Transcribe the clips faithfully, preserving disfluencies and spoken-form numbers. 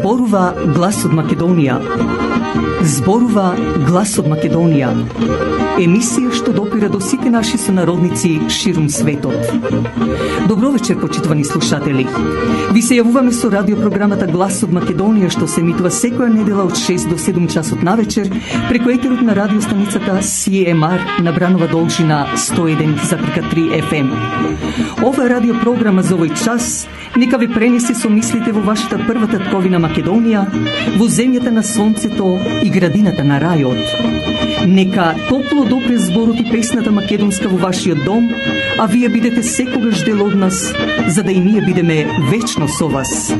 Зборува глас од Македонија. Зборува глас од Македонија. Емисија што допира до сите наши сонародници ширум светот. Добро вечер, почитувани слушатели. Ви се јавуваме со радиопрограмата Глас од Македонија, што се емитува секоја недела од шест до седум часот на вечер преку етерот на радиостаницата Си Ем Ар на Бранова должина сто еден запирка три Еф Ем. Ова радиопрограма за овој час нека ве пренесе со мислите во вашата прва татковина Македонија, во земјата на сонцето и градината на рајот. Нека топло допре зборот и песната македонска во вашиот дом, а вие бидете секогаш дел од нас, за да и ние бидеме вечно со вас.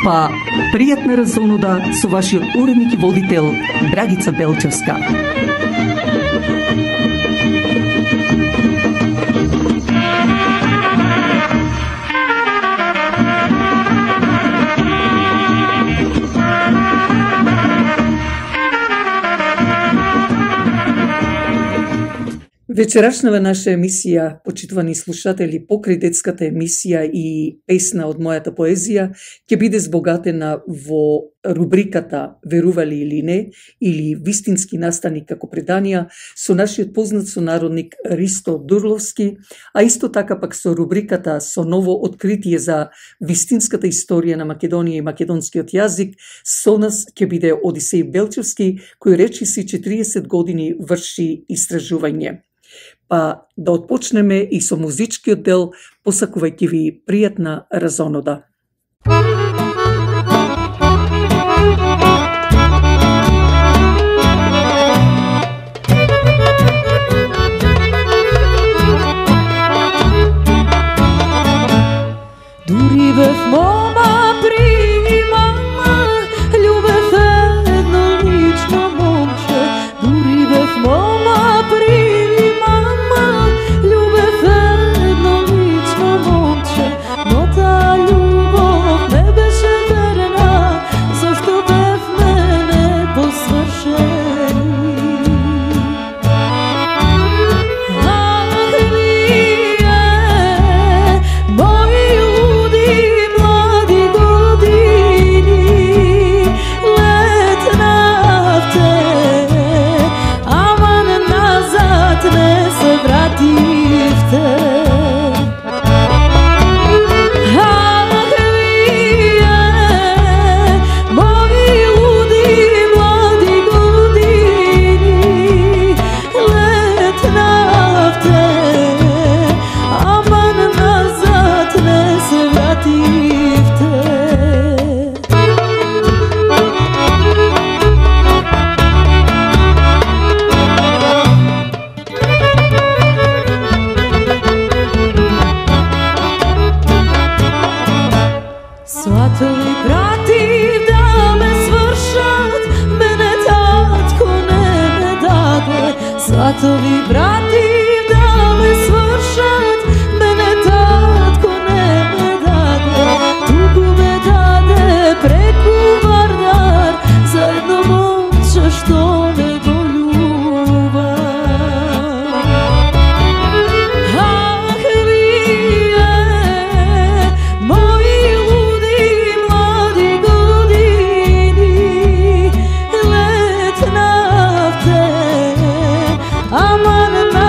Па, пријатна разонода со вашиот уредник и водител Драгица Белчевска. Вечерашнава наша емисија, почитувани слушатели, покрај детската емисија и песна од мојата поезија, ќе биде збогатена во рубриката Верували или не, или Вистински настаник како преданија, со нашиот познат сонародник Ристо Дурловски, а исто така пак со рубриката со ново откритие за вистинската историја на Македонија и македонскиот јазик, со нас ќе биде Одисеј Белчевски, кој речиси четириесет години врши истражување. Па да отпочнеме и со музичкиот дел, посакувајќи ви пријатна разонода. Дури бев мома при мама, љубев едно лично момче. Дури бев мома при Сватови брати да ме свршат, мене татко не ме даде, туку ме даде преку Вардар, за едно момче што ме го љуба. Ах, вие, мои луди млади години, летнавте, аман на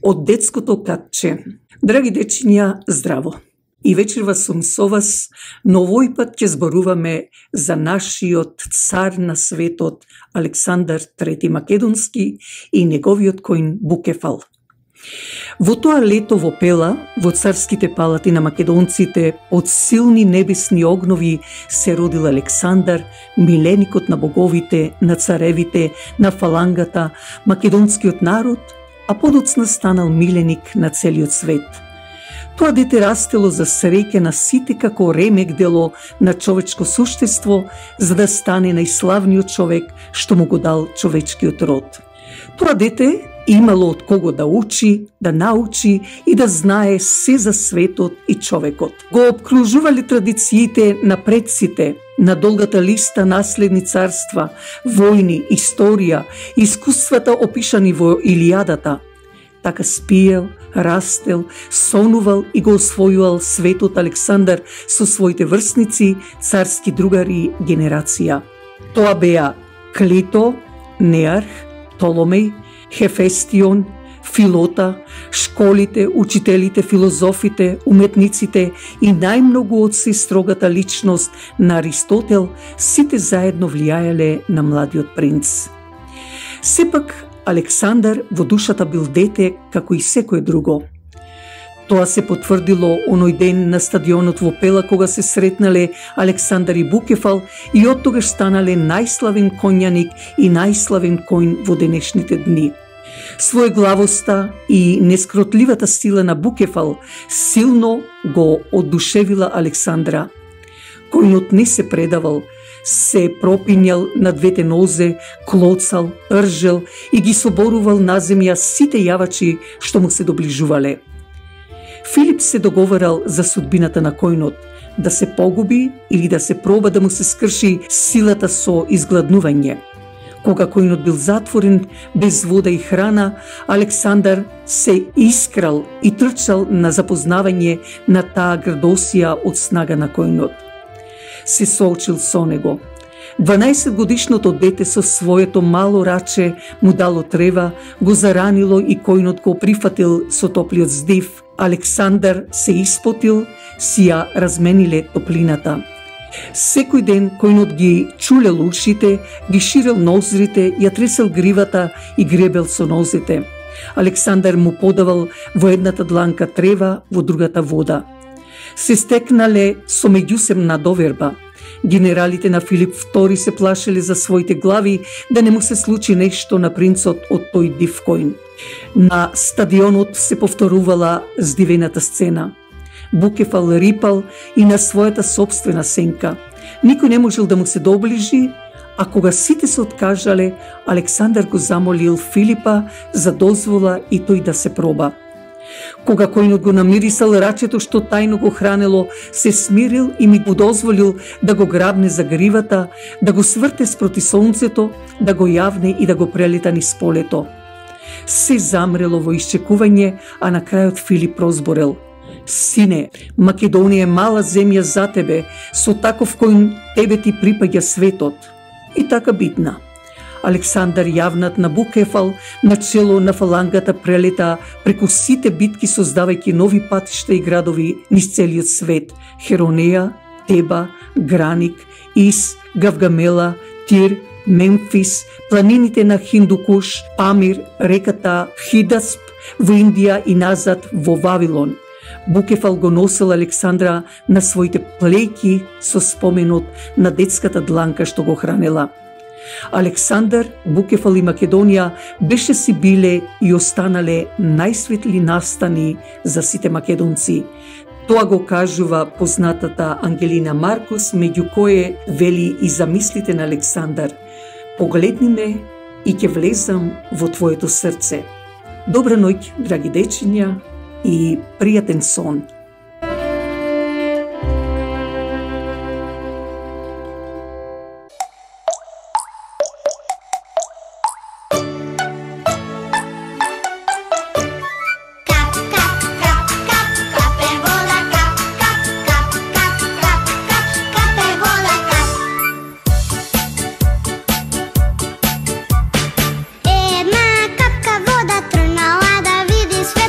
од детското катче. Драги дечиња, здраво! И вечерва сум со вас, но овој пат ќе зборуваме за нашиот цар на светот Александар трети Македонски и неговиот коин Букефал. Во тоа лето во Пела, во царските палати на македонците, од силни небесни огнови се родил Александар, миленикот на боговите, на царевите, на фалангата, македонскиот народ, а подоцна станал миленик на целиот свет. Тоа дете растело за среќа на сите како ремек дело на човечко суштество, за да стане најславниот човек што му го дал човечкиот род. Тоа дете имало од кого да учи, да научи и да знае се за светот и човекот. Го обкружувале традициите на предците, на долгата листа наследни царства, војни, историја, искуствата опишани во Илијадата. Така спиел, растел, сонувал и го освојувал светот Александар со своите врсници, царски другари, генерација. Тоа беа Клито, Неарх, Толомеј, Хефестион, Филота, школите, учителите, филозофите, уметниците и најмногу од се строгата личност на Аристотел, сите заедно влијаеле на младиот принц. Сепак, Александар во душата бил дете како и секое друго. Тоа се потврдило оној ден на стадионот во Пела кога се сретнале Александар и Букефал и од тогаш станале најславен конјаник и најславен коњ во денешните дни. Своеглавоста и нескротливата сила на Букефал силно го одушевила Александра. Коњот не се предавал, се пропињал на двете нозе, клоцал, ржел и ги соборувал на земја сите јавачи што му се доближувале. Филип се договарал за судбината на којнот, да се погуби или да се проба да му се скрши силата со изгладнување. Кога којнот бил затворен, без вода и храна, Александар се искрал и трчал на запознавање на таа градосија од снага на којнот. Се соочил со него. дванаесет годишното дете со своето мало раче му дало трева, го заранило и којнот го прифатил со топлиот здив. Александар се испотил, си ја размениле топлината. Секој ден којнот ги чулел ушите, ги ширел нозрите, ја тресел гривата и гребел со нозете. Александар му подавал во едната дланка трева, во другата вода. Се стекнале со меѓусебна доверба. Генералите на Филип втори се плашеле за своите глави да не му се случи нешто на принцот од тој див којн. На стадионот се повторувала здивената сцена. Букефал рипал и на својата собствена сенка. Никој не можел да му се доближи, а кога сите се откажале, Александар го замолил Филипа за дозвола и тој да се проба. Кога којнот го намирисал рачето што тајно го хранело, се смирил и ми го дозволил да го грабне за гривата, да го сврте спроти сонцето, да го јавне и да го прелета низ полето. Се замрело во исчекување, а на крајот Филип прозборел: Сине, Македонија е мала земја за тебе, со таков кој тебе ти припаѓа светот. И така битна. Александар јавнат на Букефал, начело на фалангата прелета преку сите битки создавајќи нови патишта и градови низ целиот свет: Херонеја, Теба, Граник, Ис, Гавгамела, Тир, Мемфис, планините на Хиндукуш, Памир, реката Хидасп, во Индија и назад во Вавилон. Букефал го носел Александра на своите плејки со споменот на детската дланка што го хранела. Александар, Букефал и Македонија беше си биле и останале најсветли настани за сите македонци. Тоа го кажува познатата Ангелина Маркус, меѓу кое вели и замислите на Александар: Погледни ме и ќе влезам во твоето срце. Добра ноќ, драги дечиња, и пријатен сон. Една капка вода трнала да види свет.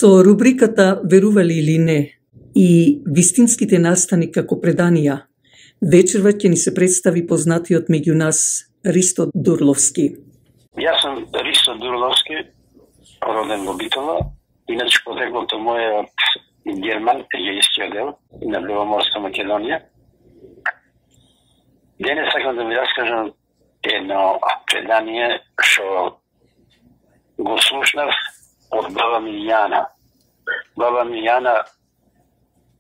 Со рубриката Верували или не и вистинските настани како преданија, вечерва ќе ни се представи познатиот меѓу нас Ристо Дурловски. Јас сум Ристо Дурловски, роден во Битола, иначе потеклото моје од Герман, егејскиот дел на Беломорска Македонија. Денес сакам да ви раскажам едно предание што го слушнав од баба ми Јана. Баба ми Јана,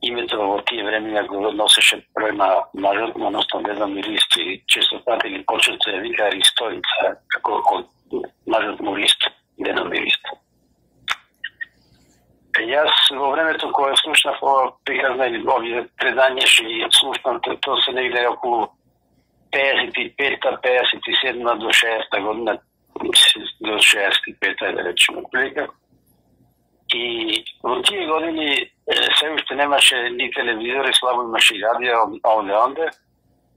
името во тие времења го носеше према мажот, односно Деда ми Ристо, и често пати ги почет се вика Ристоица, како од мажот му Ристо, Дедо ми Ристо. Јас во времето кое слушнав ова приказна или овие предања, што ги слушнав, тоа се негде околу пеесет и пета, пеесет и седма до шеесета година, до шеесет и пета, да речеме, прилика. И во тие години се уште немаше ни телевизори, слабо имаше и радио овде онде,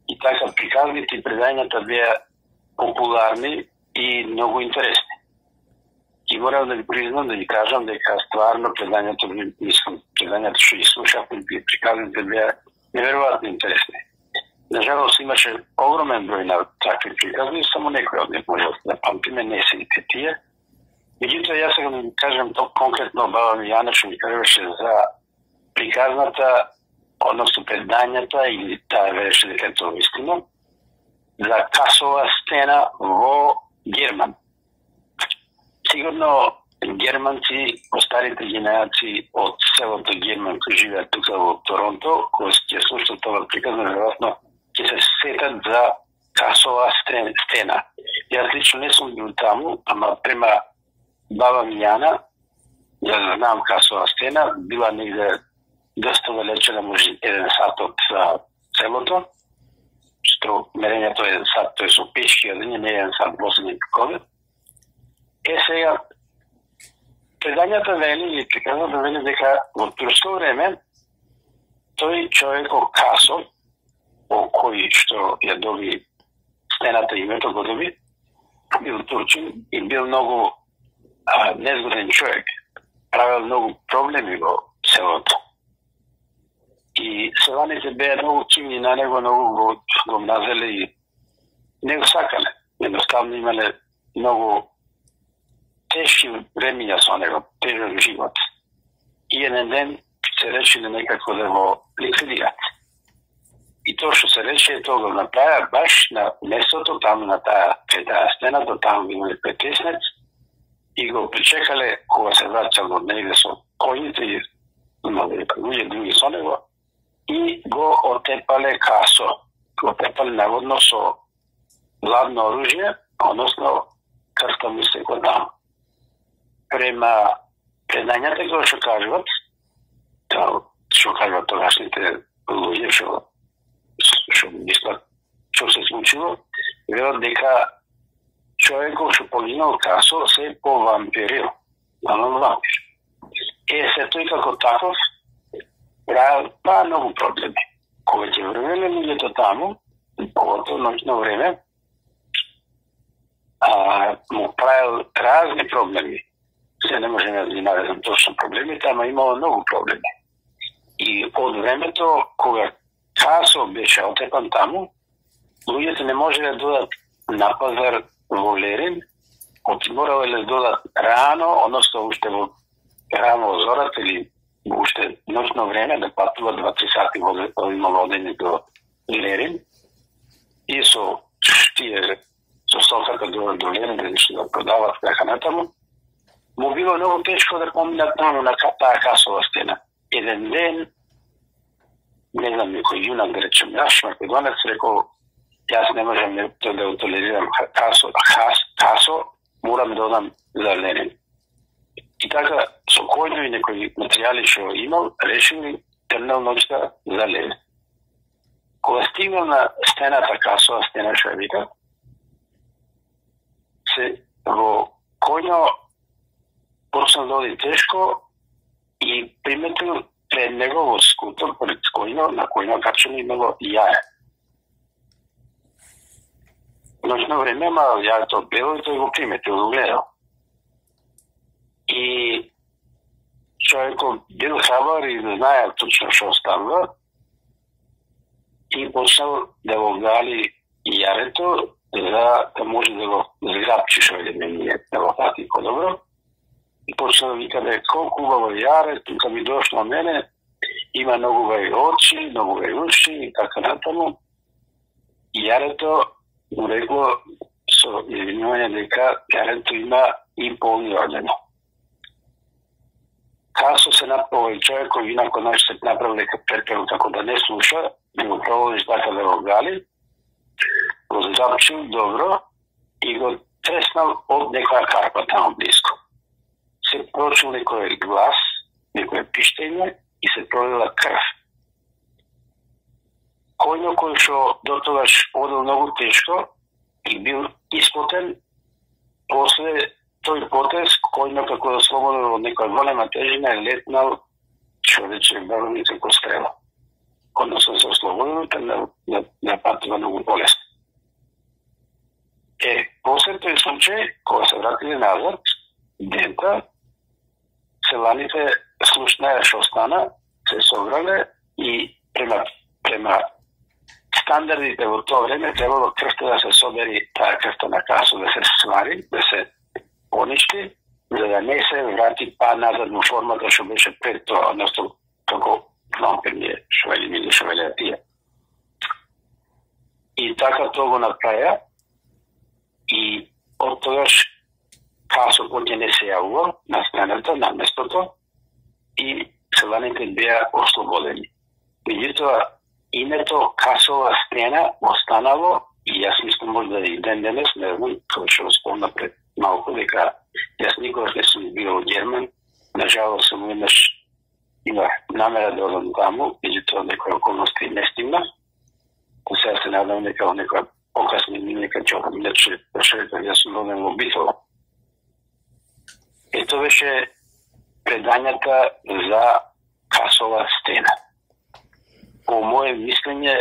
и така приказните и предањата беа популарни и многу интересни. И морам да ви признам, да ви кажам дека стварно предањето, мислам, предањето што ги слушав и приказните беа неверојатно интересни. Нажалост имаше огромен број на такви приказни, само некои од нив може да памтиме, не сите тие. Меѓутоа, јас сега да ви кажам тоа конкретно баба ми Јана што ми кажуваше за приказната, односно предањата, или таа вереше дека тоа вистина, за касова стена во Герман. Сигурно германци, старите генерации од селото Герман кои живеат тука во Торонто, кои ќе слушнат тоа приказна, веројатно ќе се сетат за касова стена. Јас лично не сум бил таму, ама према баба ми Јана, ја знам касова стена, била негде доста далече, може еден сат од селото, што мерењето е еден сат, тој со пешки одење, не еден сат возење пикове. Е сега, предањата вели, или приказната вели дека во турско време, тој човеко Касо, о кој што ја доби стената името го доби, бил турчин и бил многу а, незгоден човек. Правил многу проблеми во селото. И селаните беа многу кивни на него, многу го, го мразеле и не го сакале. Едноставно имале многу тешки времења со него, тежок живот. И еден ден се решили некако да го ликвидират. И тоа што се реши, тоа го направи баш на местото, таму на таа, кај таа стена, до таму имале претеснец, и го причекале кога се враќал од негде со коњите и имале луѓе други со него, и го отепале Касо. Го отепале наводно со гладно оружје, односно крвта му се го таму. Према предањата кои што кажуват, што кажуват тогашните луѓе, што што мислат што се случило, велат дека човекот што погинал Касо се повампирил, наново вампир. Е, се тој како таков па многу проблеми. Кога ќе врвеле луѓето таму, поготово ноќно време, а, му правил разни проблеми. Се не може да ги наведам точно проблемите, ама имало многу проблеми. И од времето, кога Касо беше отепан таму, луѓето не може да додат на пазар во Лерин, оти морале да додат рано, односно уште во рано во зората или уште ноќно време да патува два-три сати во имало одење до Лерин. И со тие со стоката до, до Лерин да нешто да продават така натаму, му било многу тешко да поминат таму на таа касова стена. Еден ден, не знам, некој јунак, да речем, наш македонец, рекол, јас не можам да го толерирам касо, кас, касо, морам да одам за Ленин. И така, со којно и некои материјали што имал, решили трнал ноќта за Ленин. Кога стигнал на стената, касова стена, што ја вика, се во којно почнал да оди тешко и приметил пред него во скутор, пред којно, на којно качено имало јаје. Ноќно време, ма јајето бело и тој го приметил, го гледал. И човекот бил храбар и не знае точно што станува и почнал да го гали јарето за да може да го зграпчи што е мене, да го фати подобро. И почна да вика дека колку убаво јаре, тука ми дошло мене, има многу убави очи, многу убави уши и така натаму. И јарето му рекло со извинување дека јарето има и полни ордено. Касо се направи човек кој инако наш се направи дека претеру како да не слуша, не го проводиш така да го гали, го запчил добро и го треснал од некоја карпа таму близко. Се прочул некој глас, некој пиштење и се пролила крв. Којно кој што дотогаш одел многу тешко и бил испотен, после тој потез, којно како да слободен од некоја голема тежина е летнал, што рече барони како стрела. Односно се ослободен, на, на, на патува многу полесно. Е, после тој случај, кога се вратили назад, дента, селаните слушнаја што стана, се собрале и према, према стандардите во тоа време требало крвта да се собери, таа крвта на Касо да се свари, да се поништи, за да не се врати па назад во формата што беше пред тоа, односно како вампирни швели или швели тие. И така тоа го направија и од тогаш Касо поќе не се јавува на сцената, на местото и селаните беа ослободени. Меѓутоа, името Касова стена останало и јас мислам можда и ден денес, не знам, кој што спомна пред малку дека јас никогаш не сум бил во Герман, нажалост сум еднаш има намера да одам таму, меѓутоа некои околности не стигна. Сега се надам дека во некоја покасни нека ќе одам, иначе прошетам, јас сум роден во Битола. Ето беше предањата за Касова стена. По моје мислење,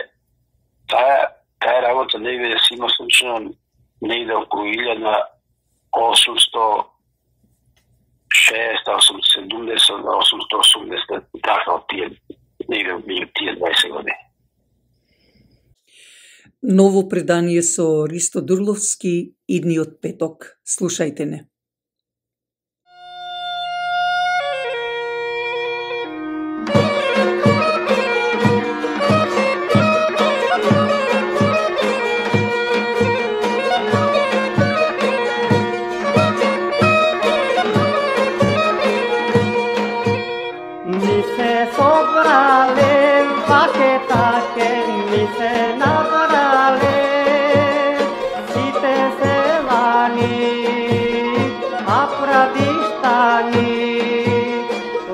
таа, таа работа не би да си има случайно негде околу илјада осумсто шеесет, осумсто седумдесет, осумсто осумдесет, така од тие, негде меѓу тие дваесет години. Ново предание со Ристо Дурловски идниот петок. Слушајте не.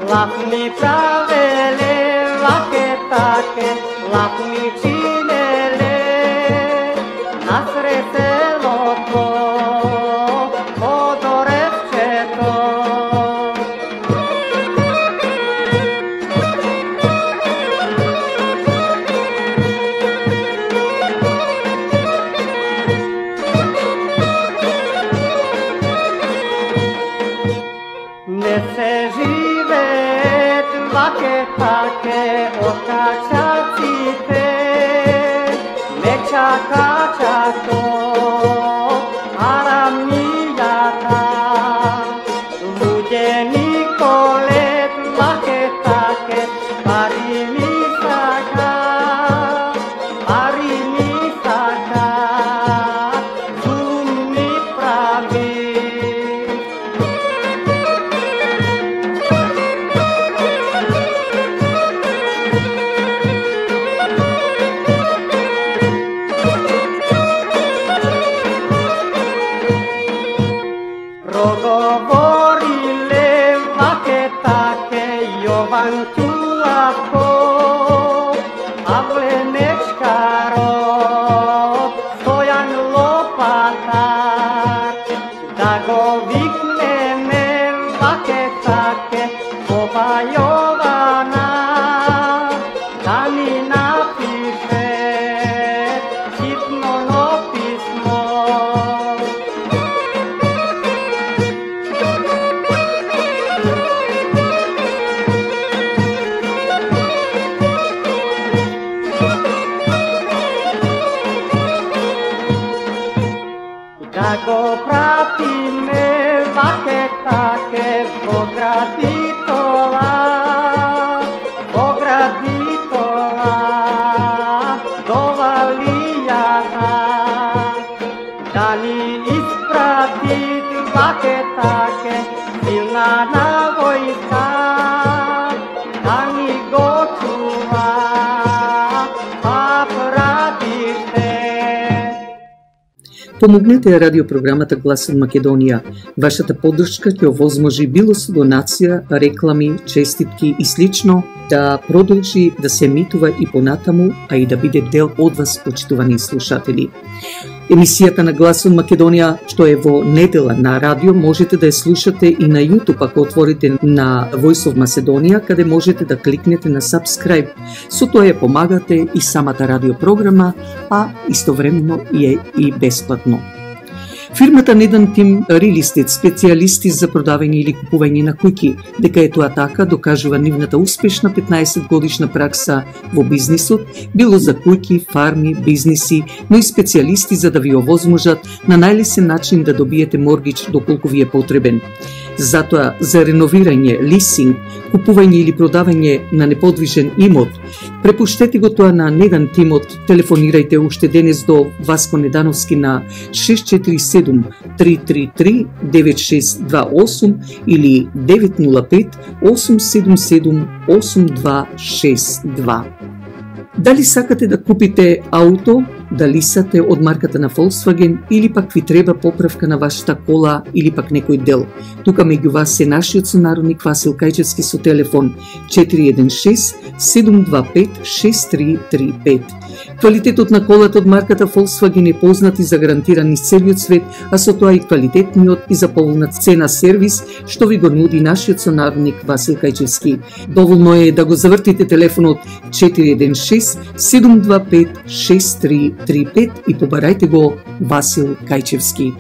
Лапни правеле, лакетаке, лапни чинеле, насред селото, подоревчето. Не се живеет лаке-таке од качаците, не чака чато арамијата. Луѓе николет лаке-таке, пари ми сака, пари ми сака, зум ми прави. да го пратиме ваке таке во градитова, во градитова, до Валијата, да ни испрати ваке таке силна навојка, да ни го чува папрадиште. Помогнете радиопрограмата Глас од Македонија. Вашата поддршка ќе овозможи било со донација, реклами, честитки и слично да продолжи да се емитува и понатаму, а и да биде дел од вас, почитувани слушатели. Емисијата на Глас од Македонија, што е во недела на радио, можете да ја слушате и на YouTube ако отворите на Voice of Macedonia, каде можете да кликнете на subscribe. Со тоа ја помагате и самата радиопрограма, а истовремено е и бесплатно. Фирмата Недан Тим Real Estate, специјалисти за продавање или купување на куќи, дека е тоа така, докажува нивната успешна петнаесет годишна пракса во бизнисот, било за куќи, фарми, бизниси, но и специјалисти за да ви овозможат на најлесен начин да добиете моргич доколку ви е потребен. Затоа, за реновирање, лисинг, купување или продавање на неподвижен имот, препуштете го тоа на Недан Тимот, телефонирајте уште денес до Васко Недановски на шест четири седум три три три девет шест два осум или девет нула пет осум седум седум осум два шест два. Дали сакате да купите ауто, дали сате од марката на Volkswagen или пак ви треба поправка на вашата кола или пак некој дел? Тука меѓу вас е нашиот сонародник Васил Кајчевски со телефон четири еден шест седум два пет шест три три пет. Квалитетот на колата од марката Volkswagen е познат и загарантиран из целиот свет, а со тоа и квалитетниот и за поволна цена сервис што ви го нуди нашиот сонародник Васил Кајчевски. Доволно е да го завртите телефонот четири еден шест седум два пет шест три три пет и побарајте го Васил Кајчевски.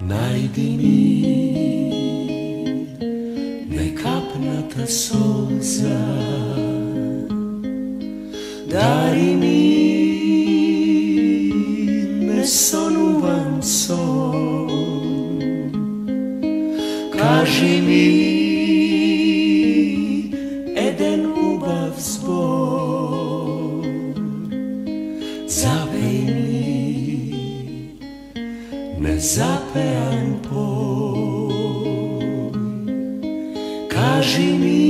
Најди ми некапната солза, дари ми несонуван сон, кажи ми еден убав збор, запеј ми незапеан пој, кажи ми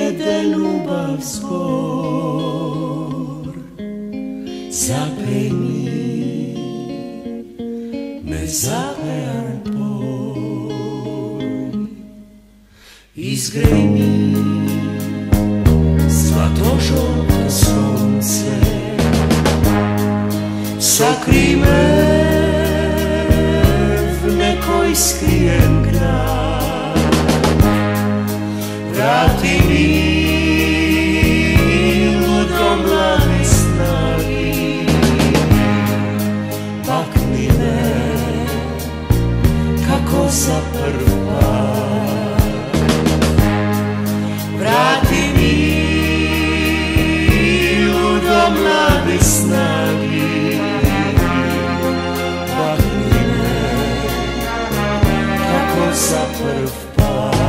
еден убав збор, запеј ми незапеан пој, изгреј ми злато-жолто сонце, сокри ме в некој скриен крај, врати ми до млади снаги, пакни ме како за прв пат, врати ми до млади снаги, за прв пат.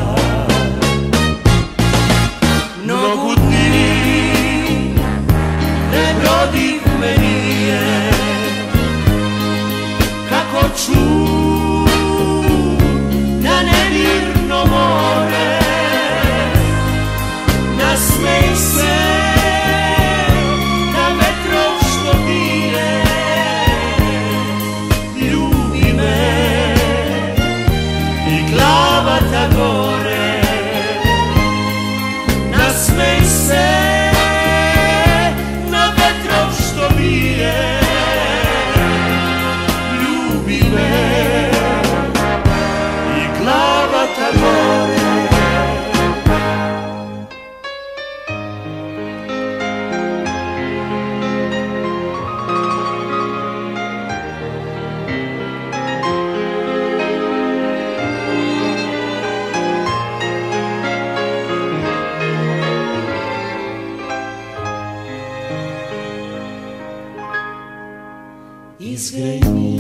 izgraj mi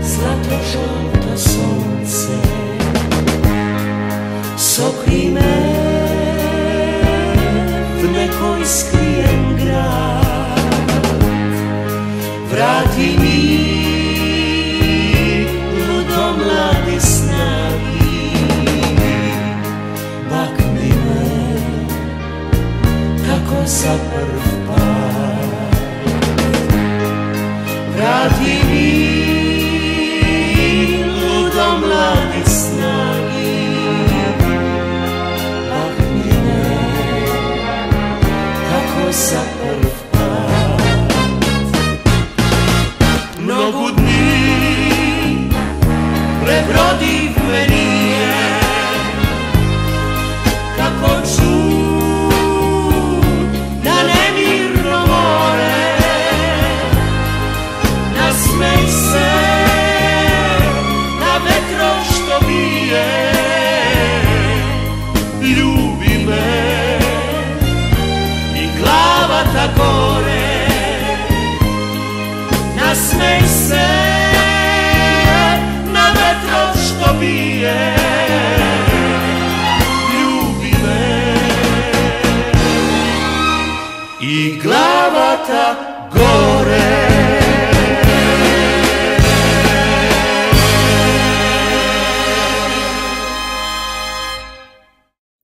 zlato žolto sunce, sokri me v nekoj skrijen grad, vrati mi ludo mlade snagi, bakni me kako za prv pad, vrati mi ludo mlade snagi, bakni me kako za prv pad. Mnogo dni prebrodi me nije, kako ču na nemirno more, nasmej se na vetro što bije, ljubi me i glava ta gore, nasmej se na vetro što bije, ljubi me i glava ta gore.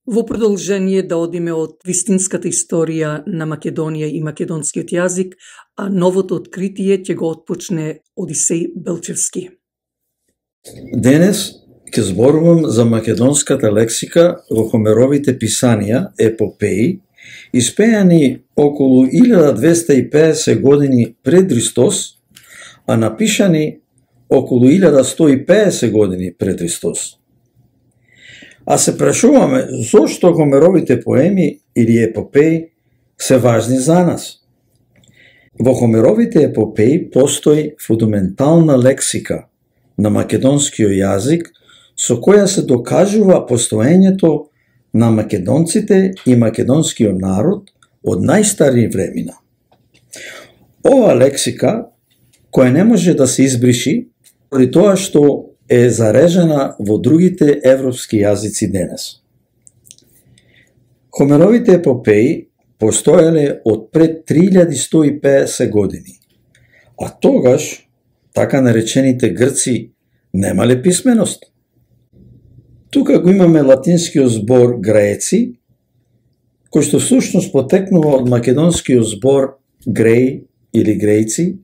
Во продолжение да одиме од вистинската историја на Македонија и македонскиот јазик, а новото откритие ќе го отпочне Одисеј Белчевски. Денес ќе зборувам за македонската лексика во Хомеровите писанија, епопеи, испејани околу илјада двеста и педесет години пред Христос, а напишани околу илјада сто и педесет години пред Христос. А се прашуваме зошто Хомеровите поеми или епопеи се важни за нас. Во Хомеровите епопеи постои фундаментална лексика на македонскиот јазик со која се докажува постоењето на македонците и македонскиот народ од најстари времена. Ова лексика, која не може да се избриши, поради тоа што е зарежена во другите европски јазици денес. Хомеровите епопеи постоеле од пред три илјади сто и педесет години, а тогаш така наречените грци немале писменост. Тука го имаме латинскиот збор греци, кој што всушност потекнува од македонскиот збор греј или грејци,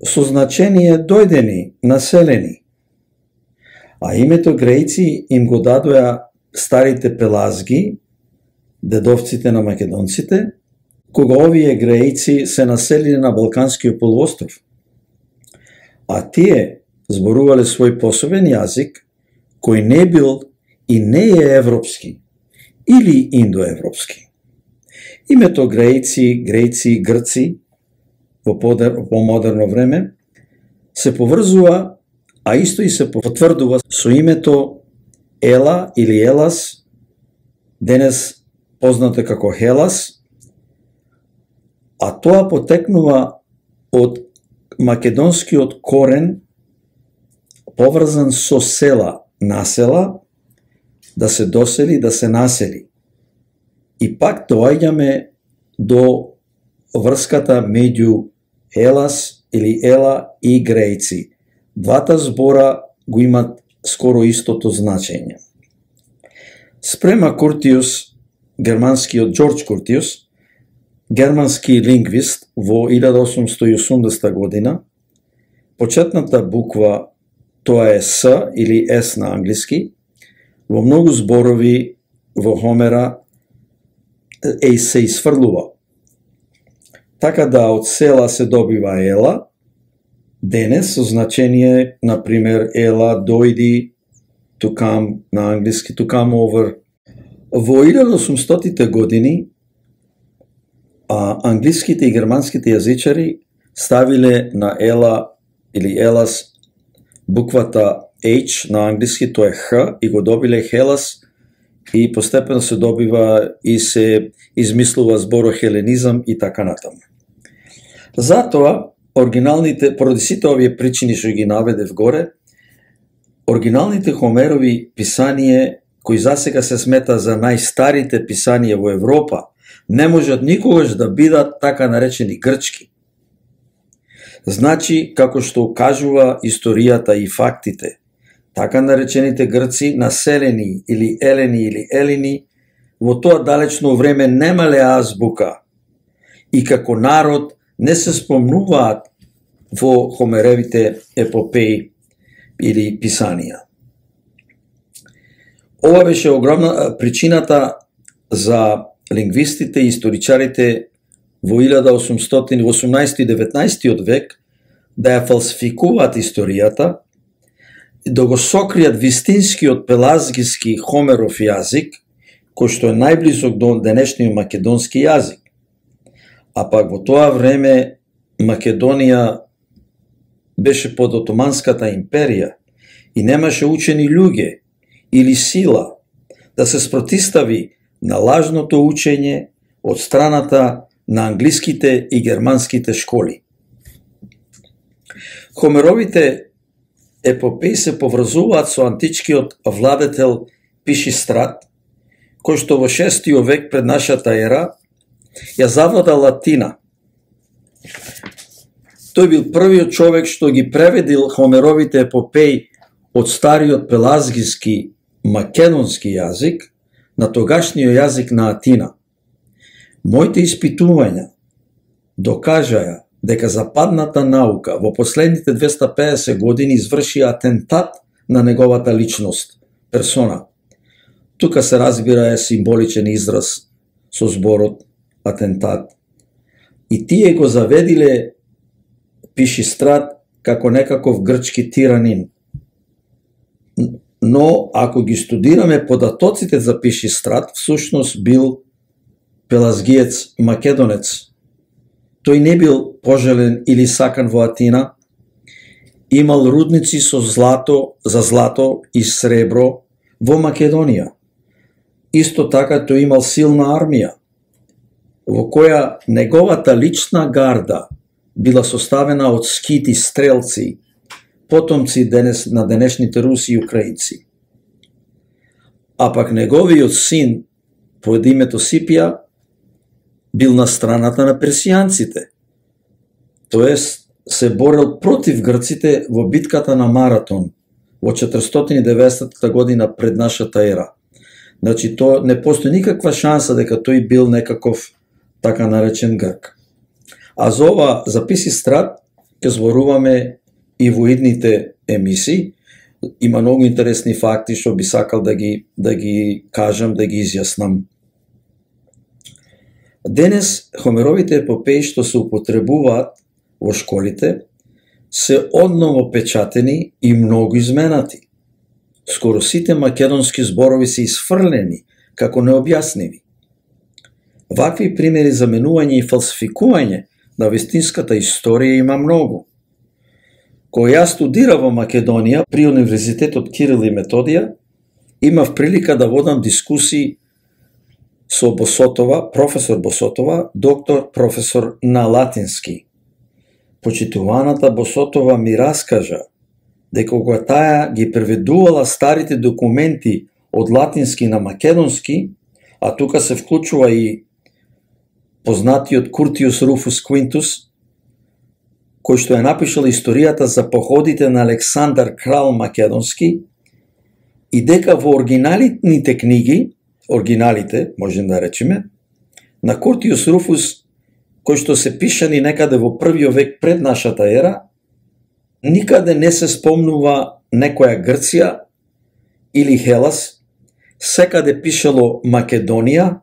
со значение дојдени, населени. А името грејци им го дадоа старите пелазги, дедовците на македонците, кога овие грејци се населили на Балканскиот полуостров. А тие зборувале свој посебен јазик, кој не бил и не е европски или индоевропски. Името грејци, грејци, грци во помодерно време се поврзува, а исто и се потврдува со името Ела или Елас, денес познато како Хелас, а тоа потекнува од македонскиот корен поврзан со села, насела, да се досели, да се насели. И пак доаѓаме до врската меѓу Елас или Ела и грејци. Двата збора го имат скоро истото значење. Спрема Куртиус, германскиот Џорџ Куртиус, германски лингвист во илјада осумстотини и осумдесета година, почетната буква, тоа е С или С на англиски, во многу зборови во Хомера е се изфрлува. Така да од села се добива Ела, денес со значение, например, Ела, дојди, to come на англиски, to come over. Во илјада осумстотите години а, англиските и германските јазичари ставиле на Ела или Елас буквата H на англиски, тоа е Х, и го добиле Хелас, и постепено се добива и се измислува зборо хеленизам и така натаму. Затоа, оригиналните, поради сите овие причини што ги наведев горе, оригиналните Хомерови писанија, кои засега се смета за најстарите писанија во Европа, не можат никогаш да бидат така наречени грчки. Значи, како што кажува историјата и фактите, така наречените грци, населени или елени или елини, во тоа далечно време немале азбука и како народ не се спомнуваат во Хомеревите епопеи или писанија. Ова беше огромна причината за лингвистите и историчарите во илјада осумстотини, осумнаесети и деветнаесети век да ја фалсификуваат историјата и да го сокријат вистинскиот пелазгиски Хомеров јазик, кој што е најблизок до денешниот македонски јазик. А пак во тоа време Македонија беше под Отоманската империја и немаше учени луѓе или сила да се спротистави на лажното учење од страната на англиските и германските школи. Хомеровите епопеи се поврзуваат со античкиот владетел Пишистрат, кој што во шестиот век пред нашата ера ја завлада Латина. Тој бил првиот човек што ги преведил Хомеровите епопеи од стариот пелазгиски македонски јазик на тогашниот јазик на Атина. Моите испитувања докажаја дека западната наука во последните двеста педесет години изврши атентат на неговата личност, персона. Тука се разбира е символичен израз со зборот атентат. И тие го заведиле Пишистрат како некаков грчки тиранин. Но ако ги студираме податоците за Пишистрат, всушност бил пелазгиец македонец. Тој не бил пожелен или сакан во Атина, имал рудници со злато, за злато и сребро во Македонија. Исто така тој имал силна армија, во која неговата лична гарда била составена од скити стрелци, потомци денес на денешните руси и украинци. А пак неговиот син, под името Сипија, бил на страната на персијанците, тоест се борел против грците во битката на Маратон во четиристотини и деветдесетта година пред нашата ера. Значи, то не постои никаква шанса дека тој бил некаков така наречен грк. А за ова за Писистрат ќе зборуваме и во идните емисии. Има многу интересни факти што би сакал да ги да ги кажам, да ги изјаснам. Денес Хомеровите епопеи што се употребуваат во школите се одново печатени и многу изменати. Скоро сите македонски зборови се изфрлени како необјасниви. Вакви примери за менување и фалсификување на вистинската историја има многу. Кога јас студирав во Македонија при Универзитетот Кирил и Методија, имав прилика да водам дискусии со Босотова, професор Босотова, доктор професор на латински. Почитуваната Босотова ми раскажа дека кога таа ги преведувала старите документи од латински на македонски, а тука се вклучува и познатиот Куртиус Руфус Квинтус, кој што е напишал историјата за походите на Александар Крал Македонски, и дека во оригиналните книги, оригиналите, можем да речеме, на Куртиус Руфус, кој што се пишани некаде во првиот век пред нашата ера, никаде не се спомнува некоја Грција или Хелас, секаде пишало Македонија,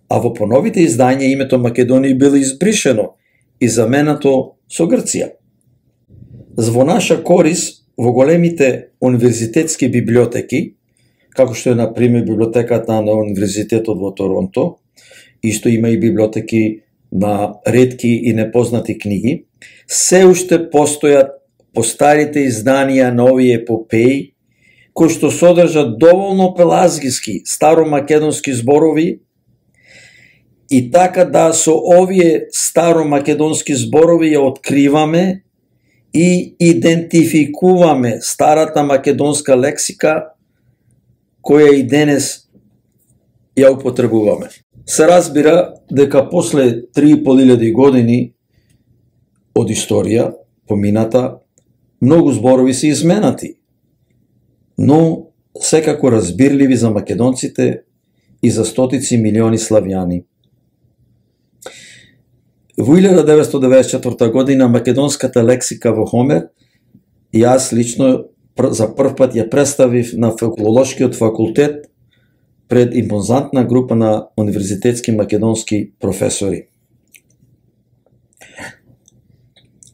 а во поновите издања името Македонија било избришено и заменато со Грција. Во наша корис, во големите универзитетски библиотеки, како што е, например, библиотеката на Универзитетот во Торонто, исто има и библиотеки на ретки и непознати книги, се уште постојат постарите изданија на овие епопеи, кои што содржат доволно пелазгиски, старомакедонски зборови И така да со овие старомакедонски зборови ја откриваме и идентификуваме старата македонска лексика која и денес ја употребуваме. Се разбира дека после три и пол илјади години од историја помината, многу зборови се изменати, но секако разбирливи за македонците и за стотици милиони славјани. Во илјада деветстотини деваесет и четврта година македонската лексика во Хомер, јас лично за прв пат ја представив на филолошкиот факултет пред импозантна група на универзитетски македонски професори.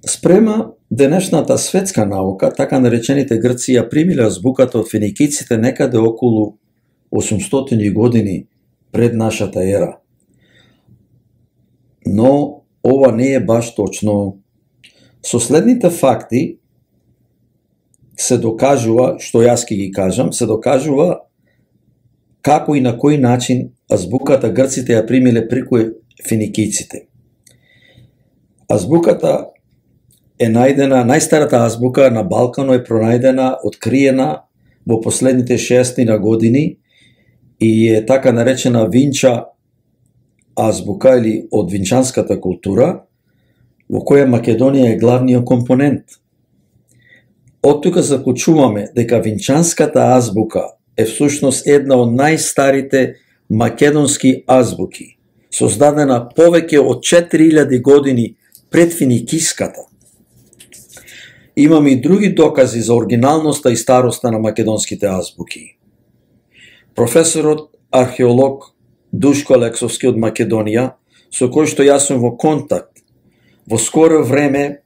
Спрема денешната светска наука, така наречените грци ја примиле азбуката од феникиците некаде околу осумстотини години пред нашата ера. Но ова не е баш точно. Со следните факти се докажува, што јас ќе ги кажам, се докажува како и на кој начин азбуката грците ја примиле преку феникиците. Азбуката е најдена, најстарата азбука на Балкано е пронајдена, откриена во последните шестина години и е така наречена Винча азбука или од винчанската култура, во која Македонија е главниот компонент. Од тука заклучуваме дека винчанската азбука е всушност една од најстарите македонски азбуки, создадена повеќе од четири илјади години пред финикиската. Имаме и други докази за оригиналноста и староста на македонските азбуки. Професорот археолог Душко Алексовски од Македонија, со кој што јас сум во контакт, во скоро време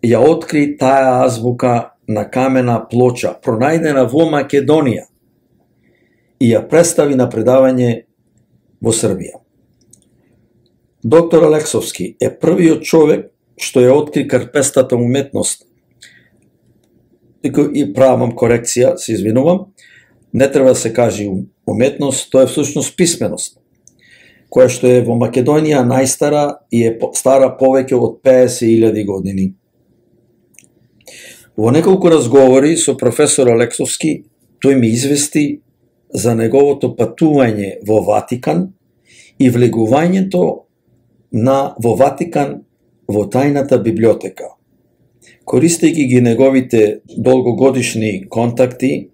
ја откри таа азбука на камена плоча, пронајдена во Македонија, и ја представи на предавање во Србија. Доктор Алексовски е првиот човек што ја откри карпестата уметност. И правам корекција, се извинувам, не треба да се каже уметност, тоа е всушност писменост, која што е во Македонија најстара и е стара повеќе од педесет илјади години. Во неколку разговори со професор Алексовски, тој ми извести за неговото патување во Ватикан и влегувањето на во Ватикан во тајната библиотека. Користејќи ги неговите долгогодишни контакти,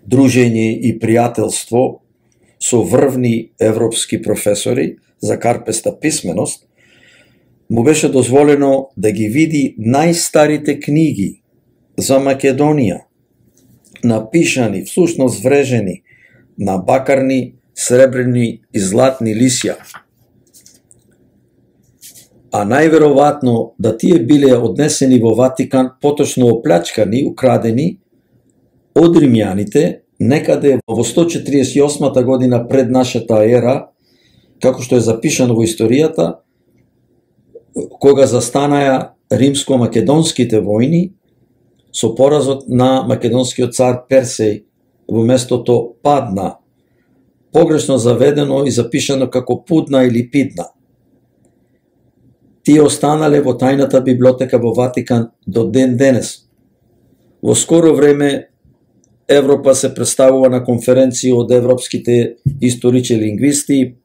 дружење и пријателство со врвни европски професори за карпеста писменост, му беше дозволено да ги види најстарите книги за Македонија, напишани, всушност врежени на бакарни, сребрени и златни лисја. А најверојатно да тие биле однесени во Ватикан, поточно оплячкани, украдени од римјаните некаде во сто четиридесет и осма година пред нашата ера, како што е запишано во историјата, кога застанаја римско-македонските војни со поразот на македонскиот цар Персеј, во местото падна, погрешно заведено и запишано како Пудна или Пидна. Тие останале во тајната библиотека во Ватикан до ден денес. Во скоро време Европа се представува на конференција од европските историчи лингвисти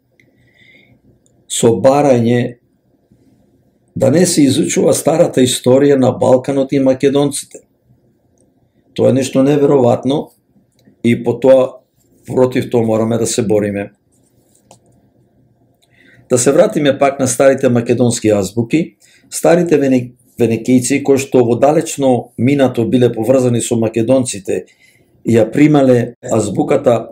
со барање да не се изучува старата историја на Балканот и македонците. Тоа е нешто неверојатно и по тоа, против тоа мораме да се бориме. Да се вратиме пак на старите македонски азбуки. Старите венекијци, кои што во далечно минато биле поврзани со македонците, ја примале азбуката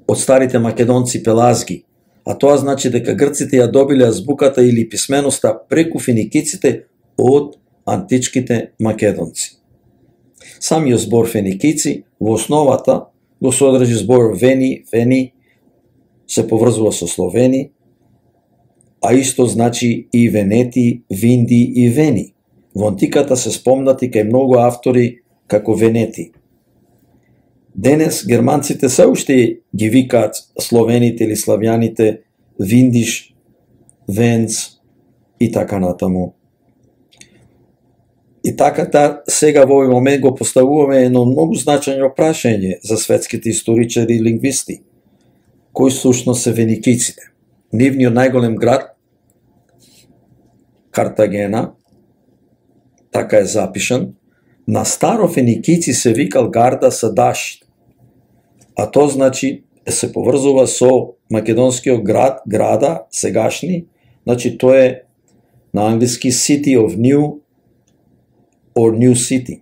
од старите македонци пелазги, а тоа значи дека грците ја добиле азбуката или писменоста преку феникиците од античките македонци. Самиот збор феникици во основата го содржи збор вени, вени, се поврзува со словени, а исто значи и венети, винди и вени. Во антиката се спомнати кај многу автори како венети. Денес германците се уште ги викаат словените или славјаните виндиш, венц и така натаму. И така та, сега во овој момент го поставуваме едно многу значајно прашање за светските историчари и лингвисти, кои сушно се феникиците. Нивниот најголем град, Картагена, така е запишан, на старо феникици се викал Гарда Садаш, а то значи се поврзува со македонскиот град, града, сегашни, значи тоа е на англиски City of New or New City.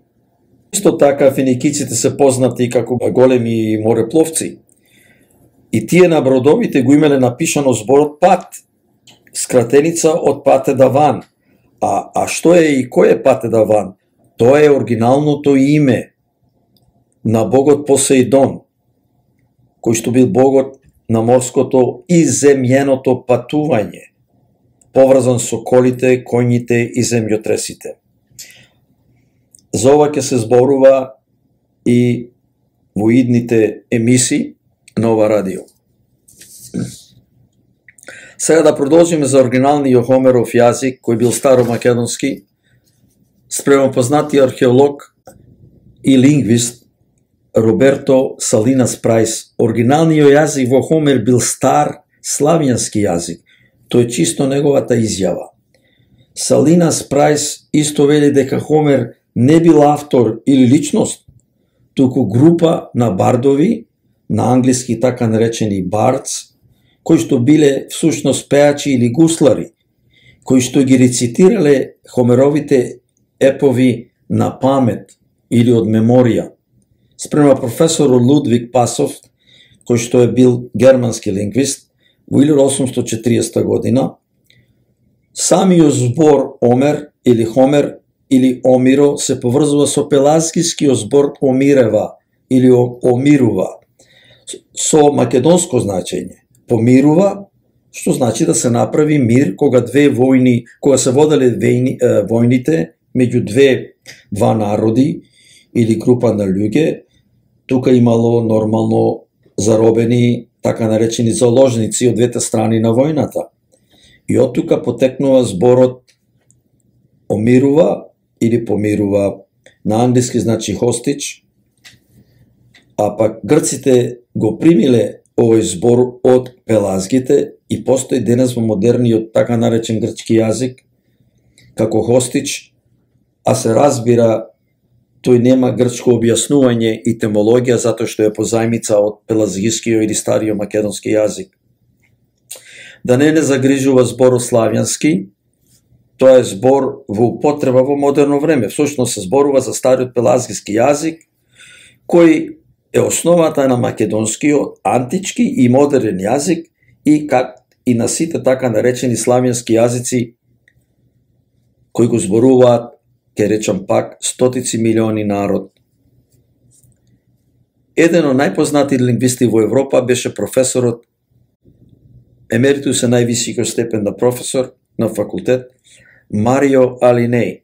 Исто така феникиците се познати како големи морепловци. И тие на бродовите го имеле напишано зборот пат, скратеница од Патедаван. А, а што е и кој е Патедаван? Тоа е оригиналното име на богот Посеидон, кој што бил богот на морското и земјеното патување, поврзан со колите, коњите и земјотресите. За ова ќе се зборува и во идните емисии на ова радио. Сега да продолжиме за оригиналниот Хомеров јазик, кој бил старомакедонски, спрема познати археолог и лингвист Роберто Салинас Прајс. Оригиналниот јазик во Хомер бил стар славјански јазик. Тоа е чисто неговата изјава. Салинас Прајс исто вели дека Хомер не бил автор или личност, туку група на бардови, на англиски така наречени бардс, кои што биле всушност пеачи или гуслари, кои што ги рецитирале Хомеровите епови на памет или од меморија. Спрема професорот Лудвиг Пасов, кој што е бил германски лингвист, во илјада осумстотини и четириесета година, самиот збор Омер или Хомер или Омиро се поврзува со пелазгискиот збор Омирева или Омирува, со македонско значење. Помирува, што значи да се направи мир кога две војни, кога се воделе војни, е, војните меѓу две два народи или група на луѓе, тука имало нормално заробени така наречени заложници од двете страни на војната. И од тука потекнува зборот Омирува или помирува, на англиски значи хостич, а пак грците го примиле овој збор од пелазгите и постои денес во модерниот така наречен грчки јазик како хостич, а се разбира тој нема грчко објаснување и темологија затоа што е позајмица од пелазгискиот или стариот македонски јазик. Да не не загрижува зборот славјански, тоа е збор во употреба во модерно време. Всушност се зборува за стариот пелазгиски јазик, кој е основата на македонскиот антички и модерен јазик и как и на сите така наречени славјански јазици кои го зборуваат, ќе речам пак, стотици милиони народ. Еден од најпознати лингвисти во Европа беше професорот емеритус е највисокиот степен на професор на факултет Марио Алинеј.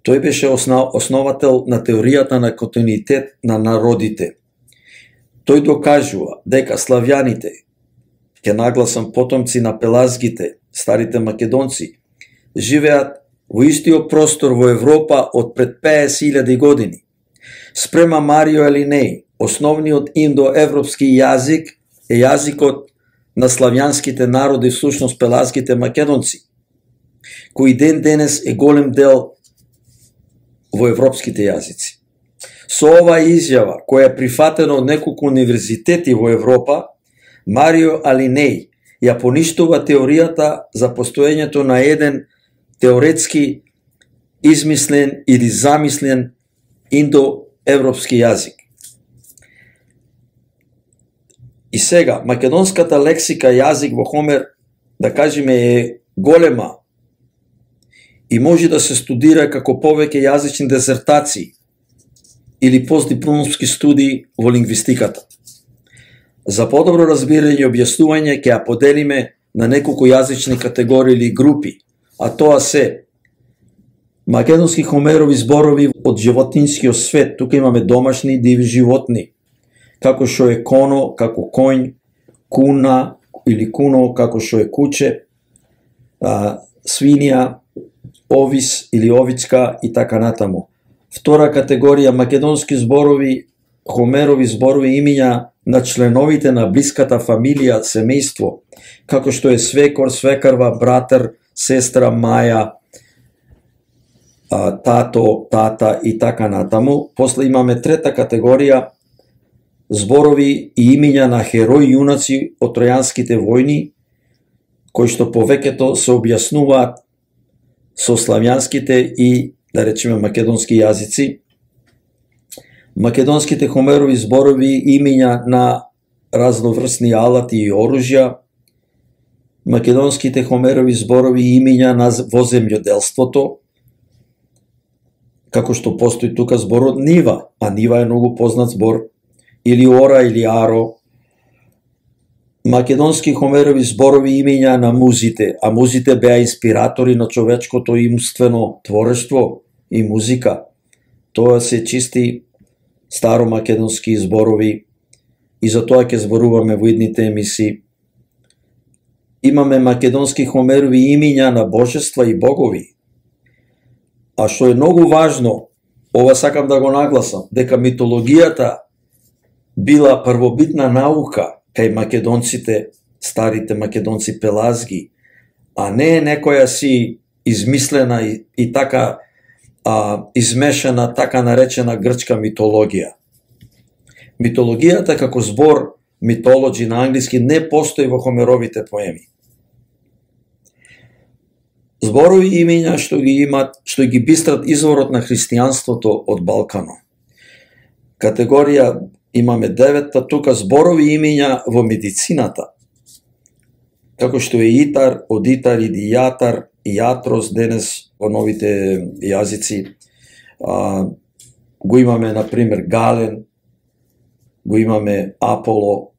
Тој беше основател на теоријата на континуитет на народите. Тој докажува дека славјаните, ќе нагласам потомци на пелазгите, старите македонци, живеат во истиот простор во Европа од пред петдесет илјади години. Спрема Марио Алинеј, основниот индоевропски јазик е јазикот на славјанските народи, всушност пелазгите македонци, кој ден денес е голем дел во европските јазици. Со оваа изјава, која е прифатена од неколку универзитети во Европа, Марио Алинеј ја поништува теоријата за постоењето на еден теоретски измислен или замислен индоевропски јазик. И сега, македонската лексика јазик во Хомер, да кажеме, е голема и може да се студира како повеќе јазични дезертации или постдипломски студии во лингвистиката. За подобро разбирање и објаснување ќе ја поделиме на неколку јазични категории или групи, а тоа се македонски Хомерови зборови од животинскиот свет. Тука имаме домашни диви животни, како што е коно, како коњ, куна или куно, како што е куче, а, свинија, овис или овичка и така натаму. Втора категорија македонски зборови, Хомерови зборови имиња на членовите на блиската фамилија, семејство, како што е свекор, свекарва, братар, сестра, маја, тато, тата и така натаму. После имаме трета категорија зборови и имиња на херои јунаци од тројанските војни, кои што повеќето се објаснуваат со славјанските и, да речеме, македонски јазици. Македонските Хомерови зборови имиња на разноврсни алати и оружја, македонските Хомерови зборови имиња на во земјоделството, како што постои тука зборот нива, а нива е многу познат збор, или ора или аро. Македонски Хомерови зборови имиња на музите, а музите беа инспиратори на човечкото умствено творештво и музика. Тоа се чисти старомакедонски зборови и за тоа ќе зборуваме во идните емисии. Имаме македонски Хомерови имиња на божества и богови. А што е многу важно, ова сакам да го нагласам, дека митологијата била првобитна наука кај македонците, старите македонци пелазги, а не е некоја си измислена и, и така а, измешана, така наречена грчка митологија. Митологијата како збор, митологи на англиски, не постои во Хомеровите поеми. Зборови имиња што ги имат, што ги бистрат изворот на христијанството од Балкано. Категорија имаме деветта, тука зборови имиња во медицината, како што е итар, одитар, идијатар, иатрос, денес во новите јазици. А, го имаме, например, гален, го имаме аполо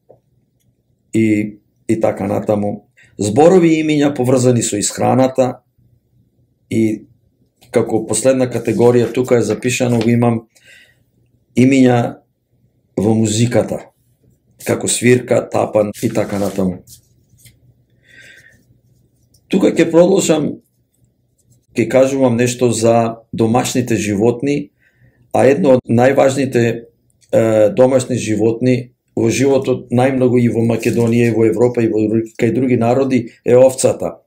и, и така натаму. Зборови имиња поврзани со исхраната и како последна категорија тука е запишано, го имам имиња во музиката, како свирка, тапан и така натаму. Тука ќе продолжам, ќе кажувам нешто за домашните животни, а едно од најважните е, домашни животни во животот најмногу и во Македонија, и во Европа, и во кај други народи е овцата.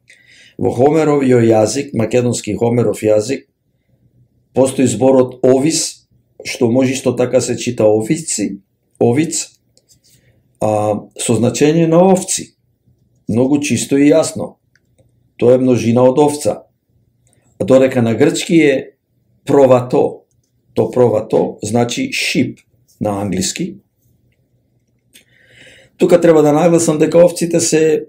Во Хомеровиот јазик, македонски Хомеров јазик, постои зборот овис, што може исто така се чита овици, овиц, а, со значење на овци. Многу чисто и јасно. Тоа е множина од овца. А додека на грчки е провато. То провато значи шип на англиски. Тука треба да нагласам дека овците се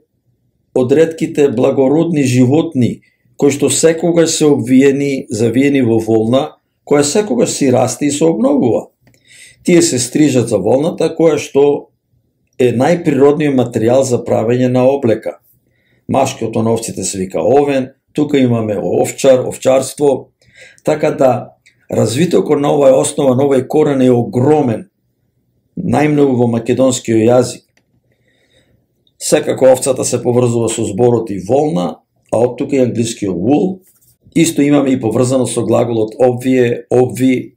од ретките благородни животни кои што секогаш се обвиени, завиени во волна, која секогаш си расте и се обновува. Тие се стрижат за волната, која што е најприродниот материјал за правење на облека. Машкото на овците се вика овен, тука имаме овчар, овчарство, така да развитокот на оваа основа, на овој корен е огромен, најмногу во македонскиот јазик. Секако овцата се поврзува со зборот и волна, а од тука и англискиот wool. Исто имаме и поврзано со глаголот обвие, обви,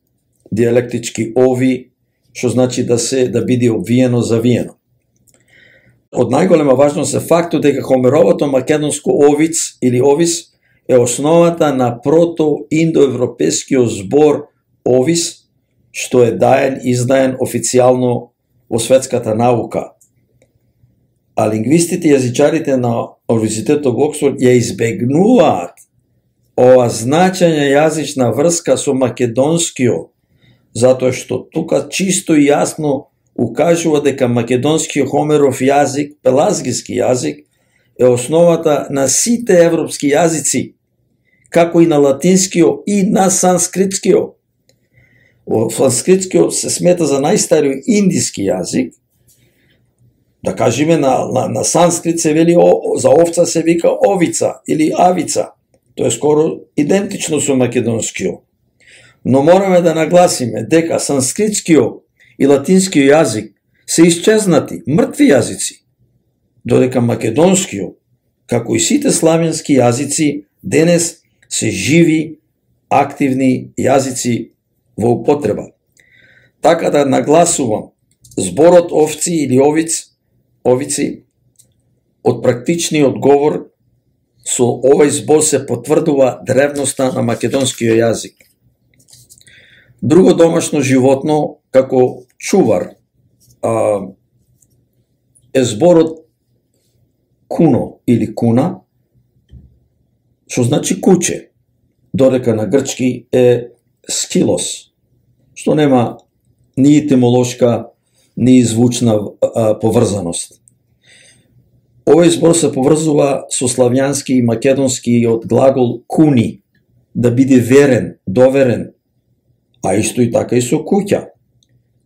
диалектички ови, што значи да се да биде обвиено, завиено. Од најголема важност е фактот дека Хомеровото македонско овиц или овис е основата на прото-индоевропескиот збор овис, што е даен, издаен официјално во светската наука. А лингвистите и јазичарите на Универзитетот во Оксфорд ја избегнуваат ова значање јазична врска со македонскиот, затоа што тука чисто и јасно укажува дека македонскиот Хомеров јазик, пелазгиски јазик, е основата на сите европски јазици, како и на латинскиот и на санскритскиот. Санскритскиот се смета за најстариот индиски јазик. Да кажеме, на, на, на санскрит се вели о, за овца се вика овица или авица. Тоа е скоро идентично со македонскиот. Но мораме да нагласиме дека санскритскиот и латинскиот јазик се исчезнати, мртви јазици. додека македонскиот, како и сите славенски јазици, денес се живи, активни јазици во употреба. Така да нагласувам, зборот овци или овиц, овици, од практичниот говор, со овој збор се потврдува древноста на македонскиот јазик. Друго домашно животно, како чувар, а, е зборот куно или куна, што значи куче, додека на грчки е скилос, што нема ни етимолошка, ни звучна а, поврзаност. Овој збор се поврзува со славјански и македонски од глагол куни, да биде верен, доверен, а исто и така и со куќа.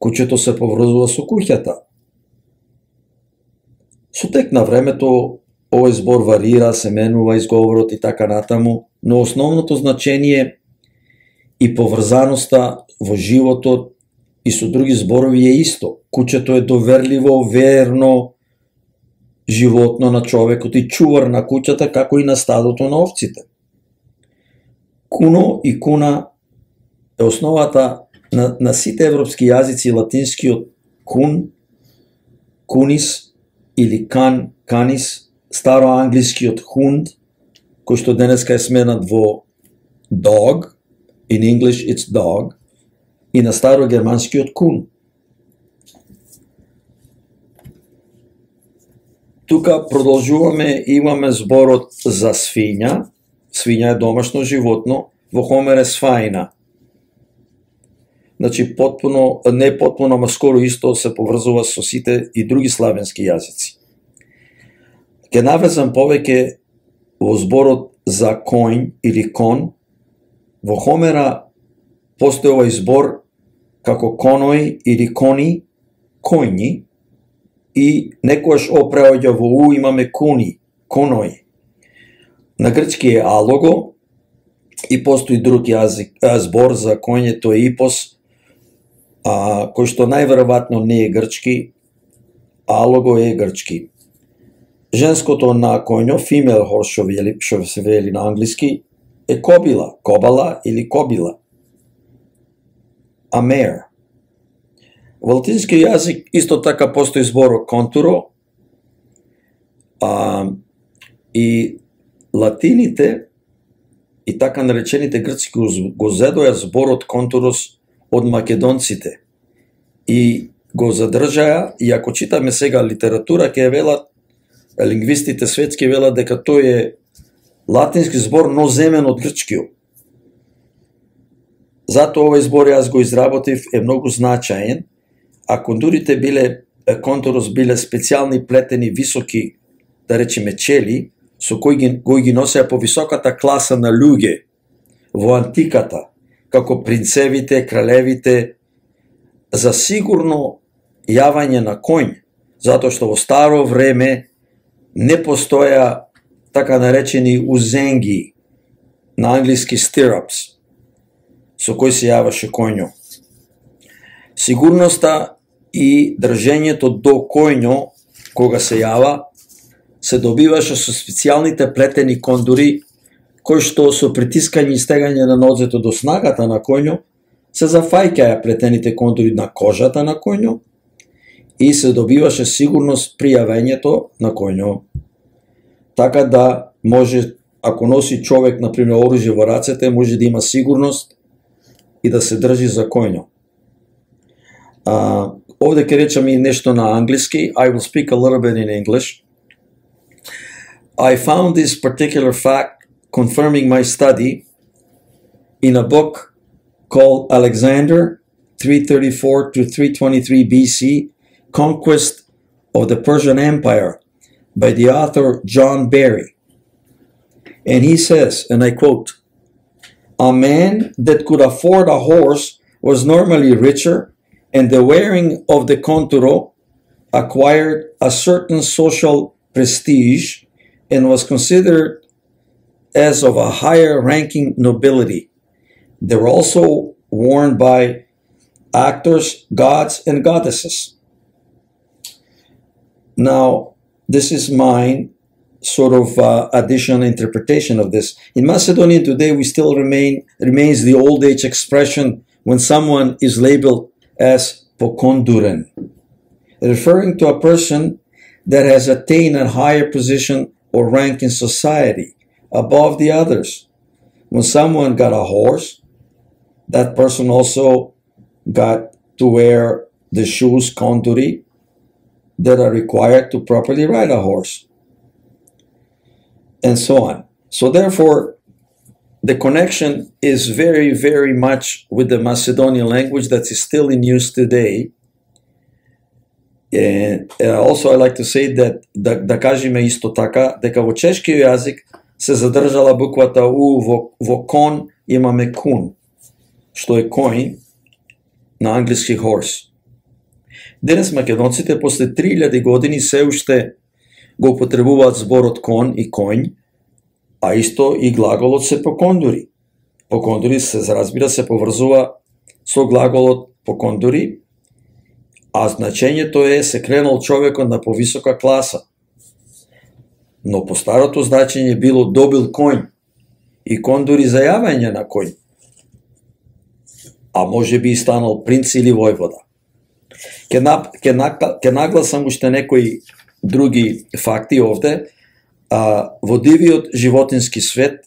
Куќето се поврзува со куќата. Со тек на времето, овој збор варира, се менува изговорот и така натаму, но основното значение и поврзаноста во животот и со други зборови е исто. Куќето е доверливо, верно животно на човекот и чувар на куќата, како и на стадото на овците. Куно и куна е основата на, на сите европски јазици, латинскиот кун, кунис или кан, канис, староанглискиот хунд, кој што денеска е сменат во dog, in English it's dog, и на старогерманскиот кун. Тука продолжуваме, имаме зборот за свиња. Свиња е домашно животно, во Хомер е свајна. Значи, потпуно, не потпуно, ама скоро исто се поврзува со сите и други славенски јазици. Ке навезам повеќе во зборот за коњ или кон. Во Хомера постои овој збор како коној или кони, коњи, и некојаш опреоѓа во у имаме куни, коној. На грчки е алого и постои друг јазик, а, збор за коњето е ипос, а, кој што најверојатно не е грчки, алого е грчки. Женското на коњо, female horse што вели, што се вели на англиски, е кобила, кобала или кобила. A mare. Во латински јазик исто така постои зборот контуро, а, и латините и така наречените грцки го зедоја зборот контурос од македонците и го задржаја, и ако читаме сега литература, ќе велат, лингвистите светски велат дека тој е латински збор, но земен од грчкиот. Затоа овој збор јас го изработив, е многу значаен, а контурите биле, контурос биле специјални плетени високи, да речеме чели, со кои ги, кои ги носеа по високата класа на луѓе во антиката, како принцевите, кралевите, за сигурно јавање на коњ, затоа што во старо време не постоја така наречени узенги, на англиски stirrups, со кој се јаваше коњо. Сигурноста и држењето до коњо, кога се јава, се добиваше со специјалните плетени кондури, кои што со притискање и стегање на нозето до снагата на коњо, се зафаќаја плетените кондури на кожата на коњо и се добиваше сигурност при јавењето на коњо. Така да може, ако носи човек, например, оружје во рацете, може да има сигурност и да се држи за коњо. А, овде ќе речам и нешто на англиски. I will speak a little bit in English. I found this particular fact confirming my study in a book called Alexander, three thirty-four to three twenty-three B C, Conquest of the Persian Empire, by the author John Barry. And he says, and I quote, "A man that could afford a horse was normally richer, and the wearing of the conturo acquired a certain social prestige and was considered as of a higher ranking nobility. They were also worn by actors, gods, and goddesses." Now, this is mine sort of uh, additional interpretation of this. In Macedonian today, we still remain remains the old age expression when someone is labeled as pokonduren, referring to a person that has attained a higher position or rank in society above the others. When someone got a horse, that person also got to wear the shoes konduri that are required to properly ride a horse, and so on. So therefore, the connection is very, very much with the Macedonian language that is still in use today. And also I like to say that да, да кажеме исто така дека во чешкиот јазик се задржала буквата У, во, во кон имаме кун, што е коин на англиски horse. Денес македонците после три илјади години се уште го употребуваат зборот кон и коњ, а исто и глаголот се покондури. Покондури се разбира се поврзува со глаголот покондури, а значењето е се кренал човекот на повисока класа. Но по старото значење било добил коњ и кондури за јавање на коњ, а може би и станал принц или војвода. Ке, на, ке, на, ке нагласам уште некои други факти овде. А, во дивиот животински свет,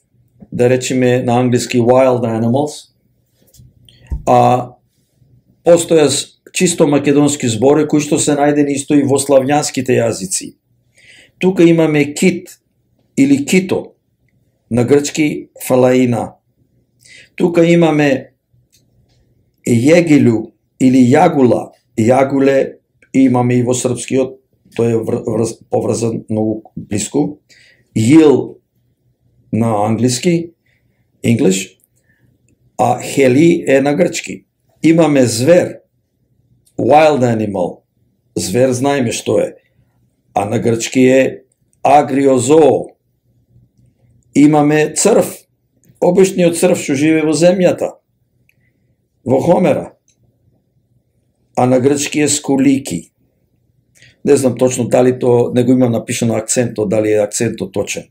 да речеме на англиски wild animals, а постоја чисто македонски збори кои што се најдени исто и во славјанските јазици. Тука имаме кит или кито, на грчки фалаина. Тука имаме јегилу или јагула, јагуле имаме и во српскиот, тој е врз, поврзан многу блиску. Јил на англиски, English, а хели е на грчки. Имаме звер, wild animal, звер знаеме што е, а на грчки е агриозоо. Имаме црв, обичниот црв што живее во земјата, во Хомера, а на грчки е скулики. Не знам точно дали то, не го имам напишано акцентот, дали е акцентот точен.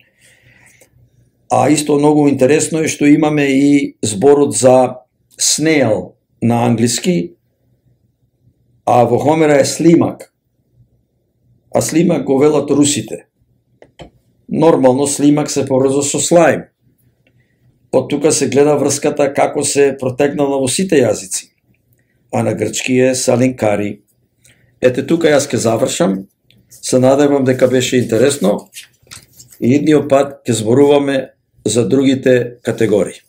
А исто многу интересно е што имаме и зборот за snail на англиски, а во Хомера е слимак. А слимак го велат русите. Нормално слимак се поврзува со слаим. Од тука се гледа врската како се протегнала во сите јазици. А на грчки е салинкари. Ете тука јас ке завршам. Се надевам дека беше интересно и идниот пат ќе зборуваме за другите категории.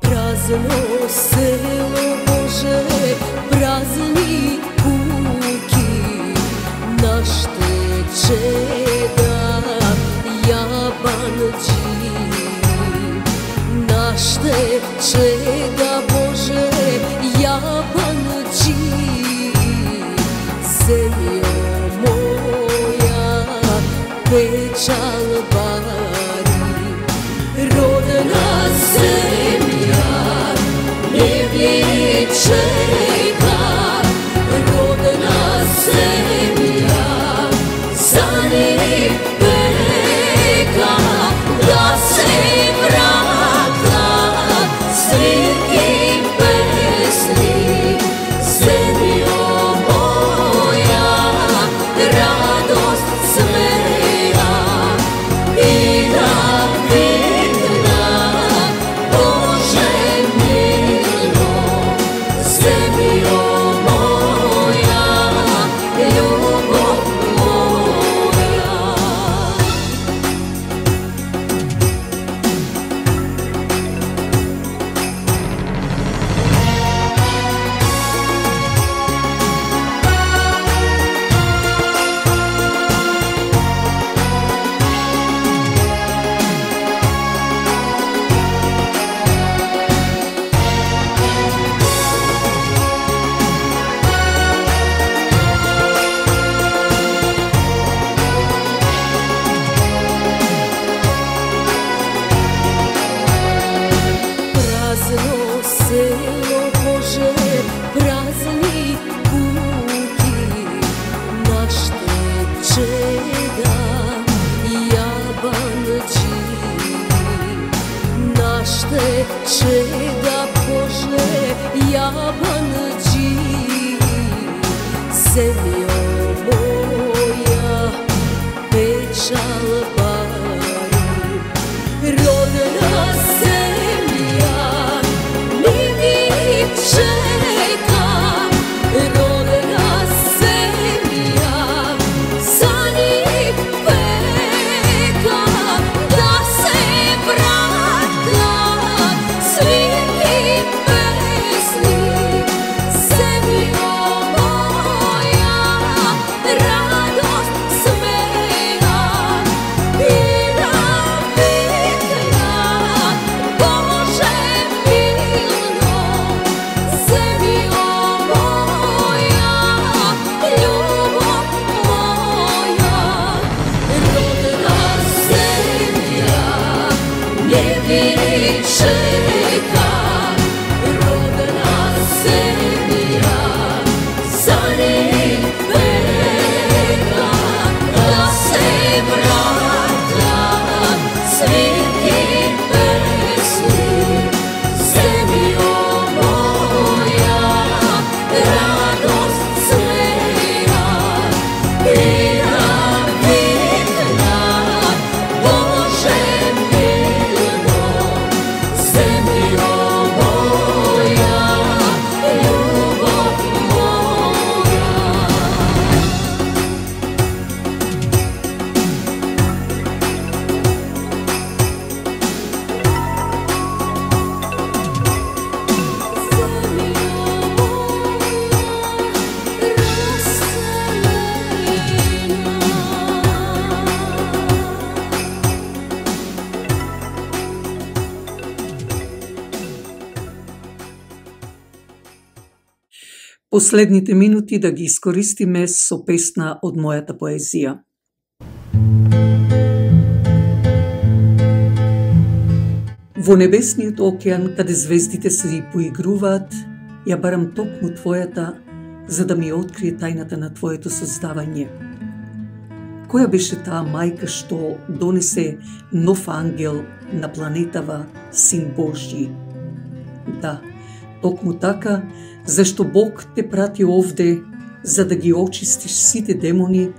Prazno selo Bože, prazni kuki, našte čeda jabanđi, našte čeda Bože jabanđi, zemljo moja pečal bari, rodna zemlja ne čeka, rodna zemlja za ne peka da se ще чеда Боже јабанџи, земјо моја печал бари, родна земја ми ви чека, родна земја за нив пека, да се вратат свирки песни, земјо моја радост смеја, бира викна Боже милно, земјо моја, љубов моја, родна земја не ви чека, родна земја за нив пека, да се вратат свирки песни, земјо моја радост смеја, бира викна Боже милно, земјо моја, љубов моја. Последните минути да ги искористиме со песна од мојата поезија. Во небесниот океан, каде звездите се поигруваат, ја барам токму твојата, за да ми открие тајната на твоето создавање. Која беше таа мајка што донесе нов ангел на планетава, Син Божји? Да, токму така, зашто Бог те прати овде, за да ги очистиш сите демони,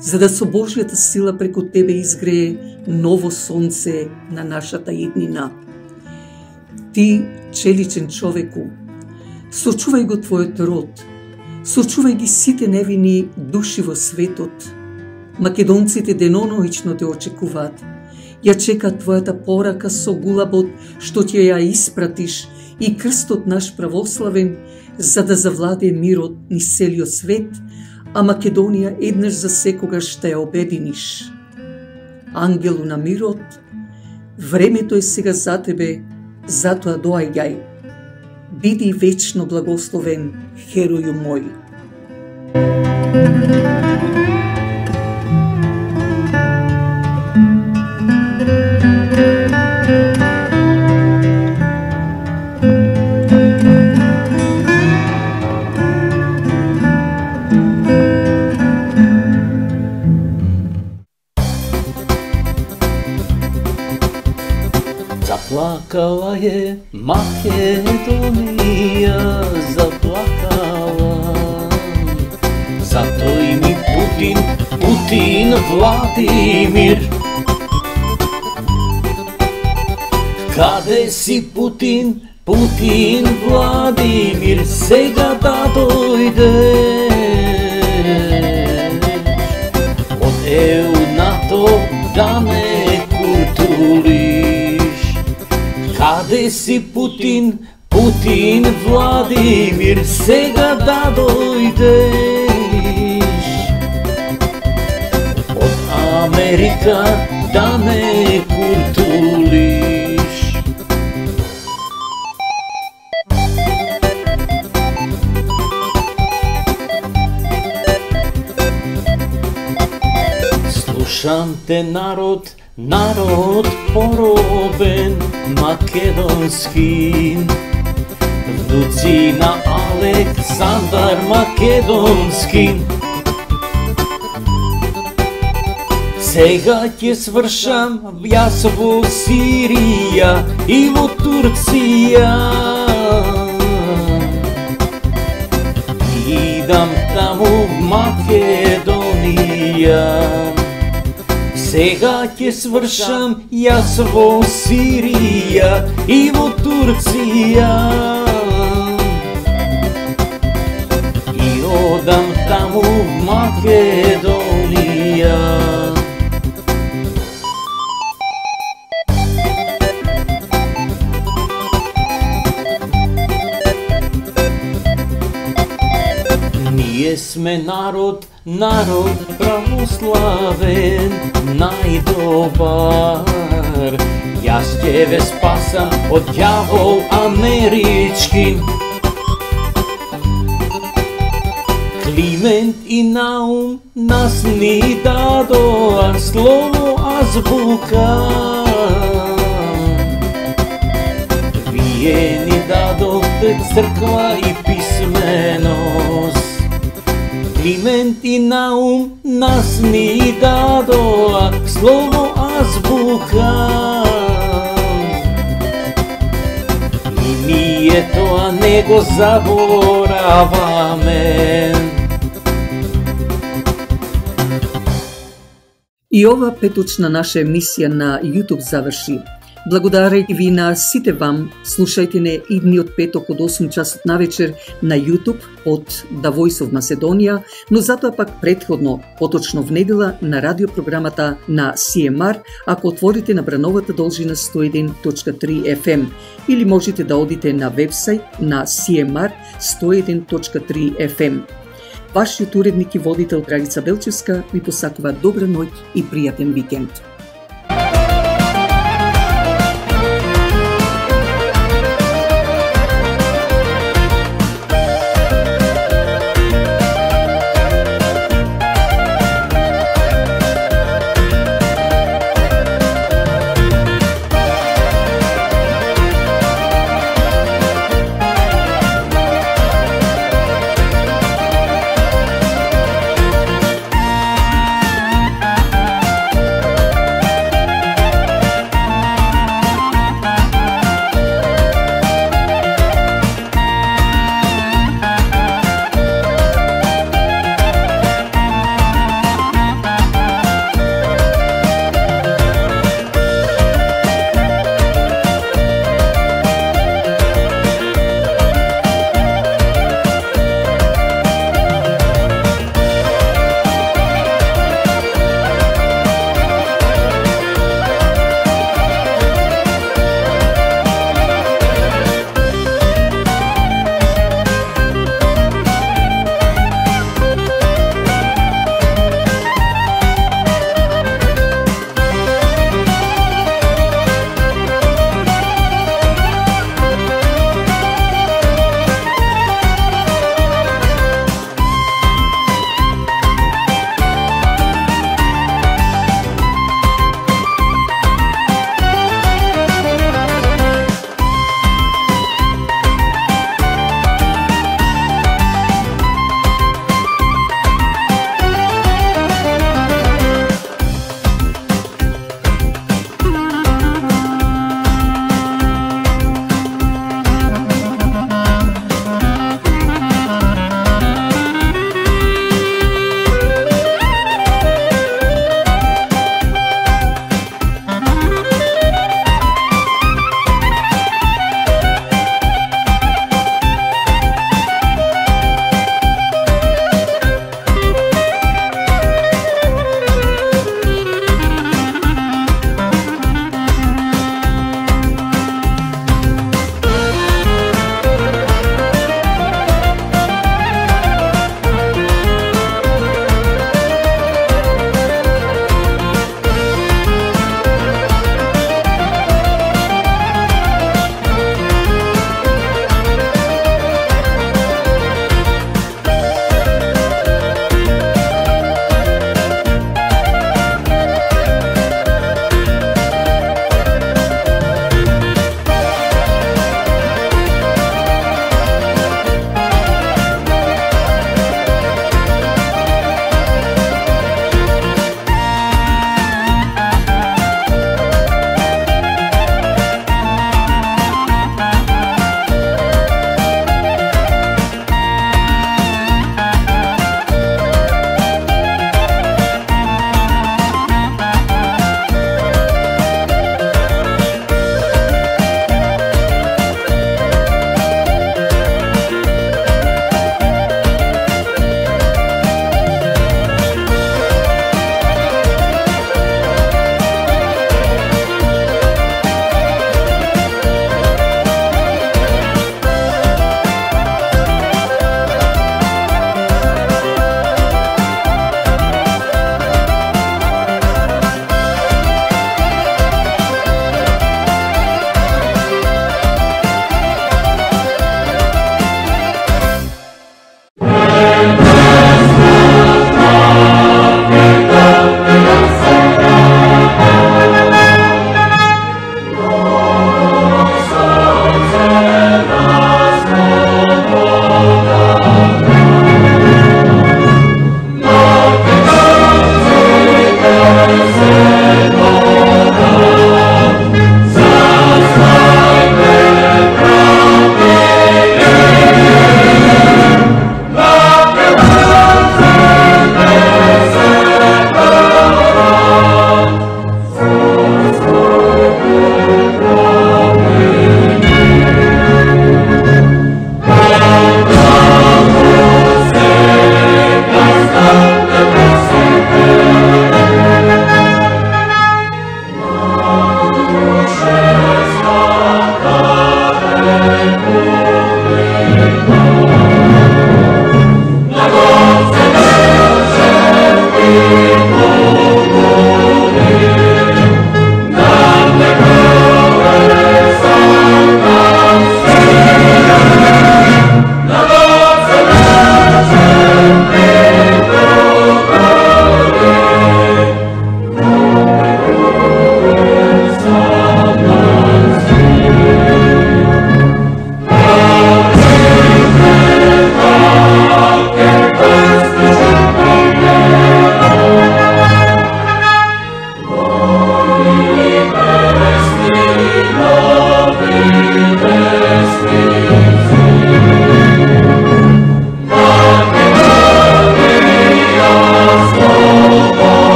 за да со Божјата сила преку тебе изгрее ново сонце на нашата иднина. Ти, челичен човеку, сочувај го твојот род, сочувај ги сите невини души во светот. Македонците деноноично те очекуваат. Ја чека твојата порака со гулабот што ќе ја испратиш и крстот наш православен, за да завладее мирот ни целиот свет, а Македонија еднаш за секогаш ще ја обединиш. Ангелу на мирот, времето е сега за тебе, затоа доаѓај. Биди вечно благословен, хероју мој. Заплакала е Македонија, заплакала. Затој ми Путин, Путин Владимир. Каде си Путин, Путин Владимир, сега да дојдеш? Од Е У, НАТО да ме културиш. Каде си Путин, Путин Владимир, сега да дојдеш? Од Америка да ме културиш. Слушам те, народ, народ поробен, македонски. Внуци на Александар Македонски. Сега ќе свршам јас во Сирија и во Турција. Идам таму в Македонија. Сега ќе свршам јас во Сирија и во Турција. И одам таму в Македонија. Ние сме народ, народ православен, најдобар. Јас ќе ве спасам од ѓавол амерички. Климент и Наум нас ни дадоа слово азбука. Вие ни дадовте црква и писменост. Климент и Наум нас ни дадоа слово азбука. И ние тоа не го забораваме. И ова петочна наша емисија на YouTube заврши. Благодарајќи ви на сите вам, слушајте не идниот петок од осум часот навечер на YouTube од The Voice of Macedonia, но затоа пак претходно, поточно в недела на радиопрограмата на Си Ем Ар, ако отворите на брановата должина сто и еден точка три Еф Ем, или можете да одите на вебсайт на Си Ем Ар сто и еден точка три Еф Ем. Вашиот уредник и водител Драгица Белчевска ви посакува добра ноќ и пријатен викенд.